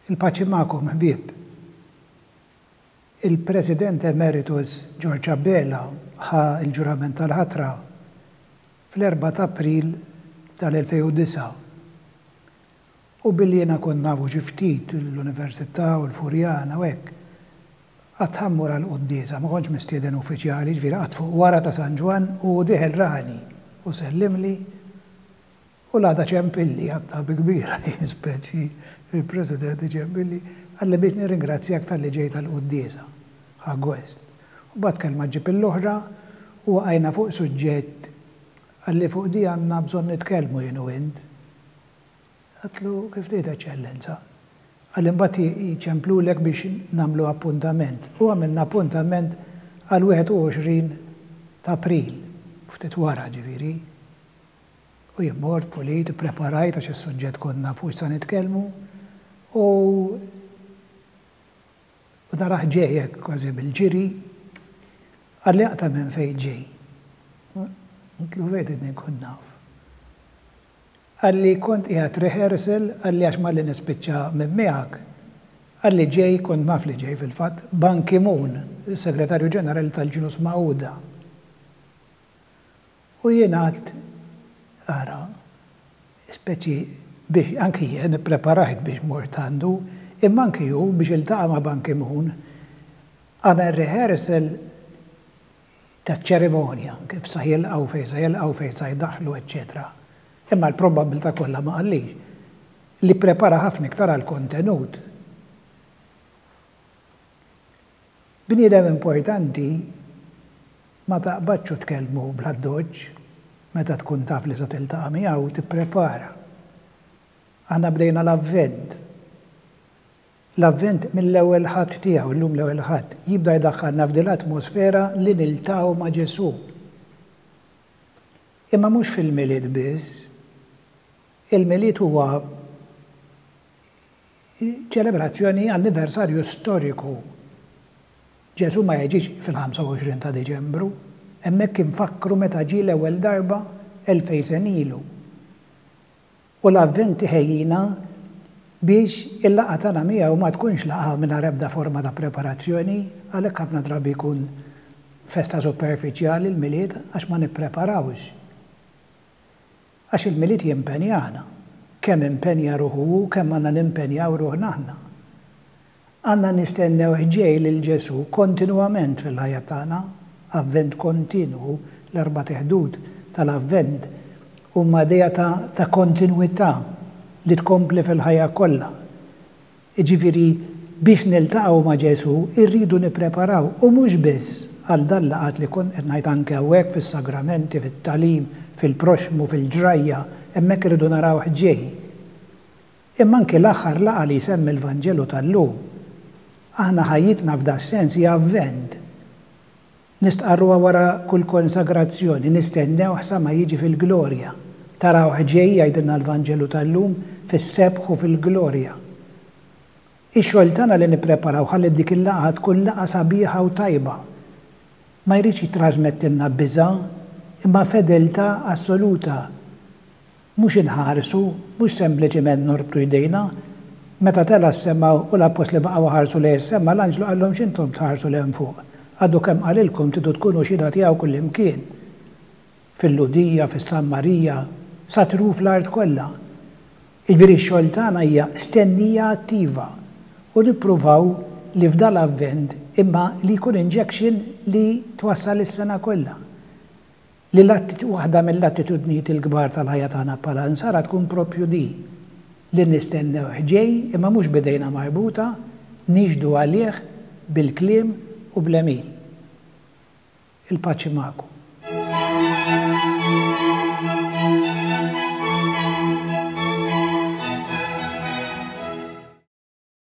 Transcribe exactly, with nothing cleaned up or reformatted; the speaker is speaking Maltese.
Il-paċi magħkom, ħbieb. Il-President Emeritus George Abela ħa l-ġurament tal-ħatra fl-erbgħa ta' April tal-elfejn u disgħa. U billi jiena kont nafu xi ftit l-Università u l-Furjana u hekk, qatt ħammur għal quddiesa, ma kontx mistieden uffiċjali, ġifieri qatt fuq wara ta' San Ġwann u dieħel rani u sellimli u l-għada ċempilli, għatta bi kbira, speċi il-President ċempilli, qalli biex nirringrazzjak talli ġejt għall-quddiesa, ħa gost. U mbagħad kelma ġġib l-oħra u waqajna fuq suġġett, qalli fuq di għandna bżonn nitkellmu jien u int. Għedtlu kif trid, Eċċellenza. Qalli mbagħad jiċemplulek biex nagħmlu appuntament. U għamilna appuntament għal wieħed u għoxrin ta' April, ftit wara ġifieri. U jien mort pulit, ippreparajt għax is-suġġett konna fuq sa nitkellmu u u naraħ ġej hekk kważi bil-ġiri, qalli aqta' minn fejn ġej. Għedtlu fejn tridni nkun naf. Qalli kont qiegħed rehearsal, qalli għax malli nispiċċa minn miegħek, qalli ġej, kont naf li ġej fil-fatt, Ban Ki-moon, il-Segretarju Ġenerali tal-Ġnus Magħquda. U jien għedt, ara, speċi biex anki jien ippreparajt biex mort għandu, imma anki hu biex iltaqa' ma' Ban Ki-moon, għamel rehearsal ta' ċerimonja, kif sa jilqgħu, fejn sa jilqgħu, fejn sa jdaħħlu, eċċetera. Imma l-probabilità kollha ma qallix li prepara ħafna iktar għall-kontenut. Bniedem importanti ma taqbadx u tkellmu bl-addoċċ, meta tkun taf li sa tiltaqa' miegħu tipprepara. Aħna bdejna l-Avvent. L-Avvent mill-ewwel Ħadd tiegħu, illum l-ewwel Ħadd, jibda jdaħħalna f'din l-atmosfera li niltaqgħu ma' Ġesù. Imma mhux fil-Milied biss. Il-Milied huwa ċelebrazzjoni anniversarju storiku. Ġesù ma jiġix fil-ħamsa u għoxrin ta' Diċembru, hemmhekk infakkru meta ġie l-ewwel darba elfejn sena ilu. U l-Avvent iħejjina biex il-laqgħa tagħna miegħu ma tkunx laqgħa mingħajr ebda forma ta' preparazzjoni, għalhekk ħafna drabi jkun festa superfiċjali l-Milied għax ma nippreparawx. Għax il-Milied jimpenjana, kemm impenja ruħu hu, kemm għandna nimpenjaw ruħna aħna. Għandna nistennew ġej lil Ġesù kontinwament fil-ħajja tagħna, Avvent kontinwu, l-erba' teħdud tal-Avvent huma idea ta', ta' kontinwità li tkompli fil-ħajja kollha. Jiġifieri biex niltaqgħu ma' Ġesù irridu nippreparaw, u mhux biss għal dan laqat li kont qed ngħid anke hawnhekk fis-sagramenti, fit-tagħlim, fil-proxmu, fil-ġrajja, hemmhekk irridu naraw ġej. Imma anke l-aħħar laqgħa li jsemmi l-Vanġelu tal-lum. Aħna ħajjitna f'da sens hija Avvent. Nistqarruha wara kull konsagrazzjoni, nistennew sa ma jiġi fil-glorja. Taraw ġej, jgħidilna l-Vanġelu tal-lum, fis-sebħ u fil-glorja. Ix-xogħol tagħna li nippreparaw ħalli dik il-laqgħa tkun laqgħa sabiħa u tajba. Ma jridx jitrasmettilna biża', imma fedeltà assoluta. Mhux inħarsu, mhux sempliċiment norbtu jdejna. Meta tela' s-sema u l-appostli baqgħu ħarsu lejn is-sema, l-anġlu qalhom x'intom tħarsu 'l hemm fuq. Għadu kemm qalilkom tridu tkunu xhieda tiegħu kullimkien. Fil-Lhudija, fis-Sammarija, sa truf l-art kollha. Jiġifieri x-xogħol tagħna hija stennija attiva u nippruvaw li f'dal Avvent imma li jkun injection li twassal is-sena kollha. Li l-atti-, waħda mill-attitudnijiet il-kbar tal-ħajja tagħna bħala nsara tkun propju di li nistennew ġej imma mhux bidejna marbuta, nixhdu għalih bil-kliem u bl-għemil. Il-paċi magħkom.